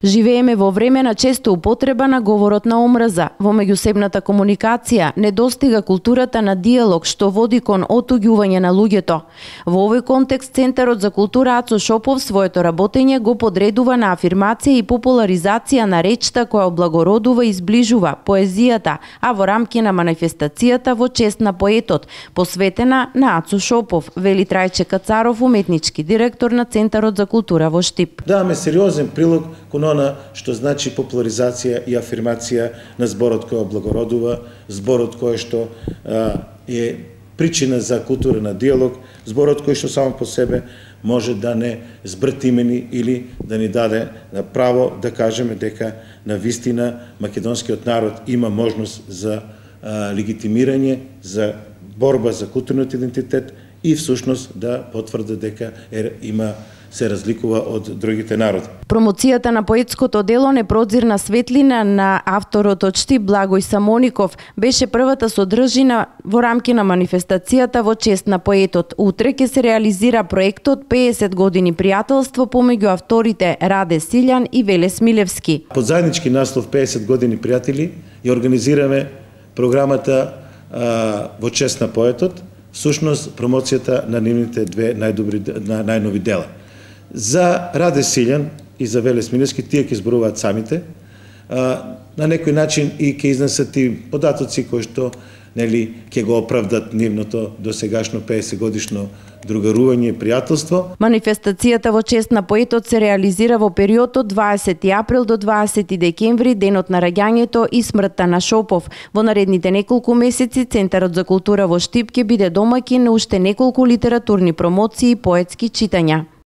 Живееме во време на често употреба на говорот на омрза. Во меѓусебната комуникација недостига културата на диалог што води кон отуѓување на луѓето. Во овој контекст Центарот за култура Ацо Шопов своето работење го подредува на афирмација и популаризација на речта која облагородува и зближува поезијата, а во рамки на манифестацијата во чест на поетот, посветена на Ацо Шопов, вели Трајче Кацаров, уметнички директор на Центарот за култура во Штип. Даваме сериозен прилог кон она што значи популаризација и афирмација на зборот кој облагородува, зборот кој што е причина за култура на диалог, зборот кој што само по себе може да не збртимени или да ни даде на право да кажеме дека на вистина македонскиот народ има можност за легитимирање, за борба за културниот идентитет и всушност да потврди дека се разликува од другите народи. Промоцијата на поетското дело Непродзирна светлина на авторот од Штип Благој Самоников беше првата содржина во рамки на манифестацијата во чест на поетот. Утре ќе се реализира проектот 50 години пријателство помеѓу авторите Раде Силјан и Веле Смилевски. Под заеднички наслов 50 години пријатели ја организираме програмата во чест на поетот, всушност промоцијата на нивните две најнови дела. За Раде Силјан и за Веле Смилевски тие ќе зборуваат самите, на некој начин и ќе изнесат и податоци кои што ќе го оправдат нивното досегашно 50 годишно другарување и пријателство. Манифестацијата во чест на поетот се реализира во период од 20 април до 20 декември, денот на раѓањето и смртта на Шопов. Во наредните неколку месеци Центарот за култура во Штип ќе биде домаќин на уште неколку литературни промоции и поетски читања.